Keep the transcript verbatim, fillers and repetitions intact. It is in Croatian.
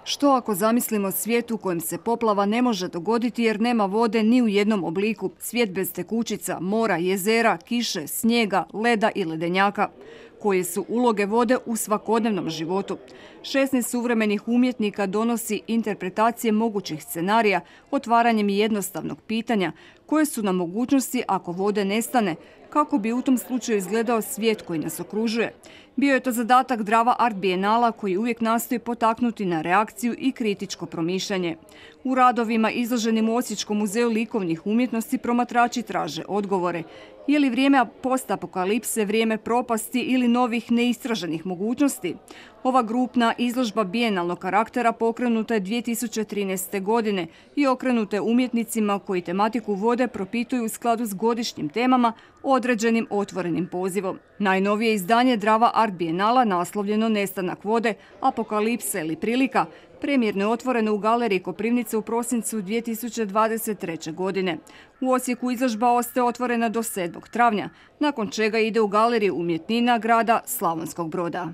Što ako zamislimo svijet u kojem se poplava ne može dogoditi jer nema vode ni u jednom obliku, svijet bez tekućica, mora, jezera, kiše, snijega, leda i ledenjaka? Koje su uloge vode u svakodnevnom životu? šesnaest suvremenih umjetnika donosi interpretacije mogućih scenarija otvaranjem jednostavnog pitanja koje su nam mogućnosti ako vode nestane, kako bi u tom slučaju izgledao svijet koji nas okružuje. Bio je to zadatak Drava Art Bienala koji uvijek nastoji potaknuti na reakciju i kritičko promišljanje. U radovima izloženim u Osječkom muzeju likovnih umjetnosti promatrači traže odgovore. Je li vrijeme postapokalipse vrijeme propasti ili novih neistraženih mogućnosti? Ova grupna izložba bijenalnog karaktera pokrenuta je dvije tisuće trinaeste. godine i okrenuta je umjetnicima koji tematiku vode propituju u skladu s godišnjim temama određenim otvorenim pozivom. Najnovije izdanje Drava Art Bienala, naslovljeno Nestanak vode, apokalipsa ili prilika, premijerno je otvoreno u galeriji Koprivnice u prosincu dvije tisuće dvadeset treće. godine. U Osijeku izložba ostaje otvorena do sedmog travnja, nakon čega ide u galeriju umjetnina grada Slavonskog Broda.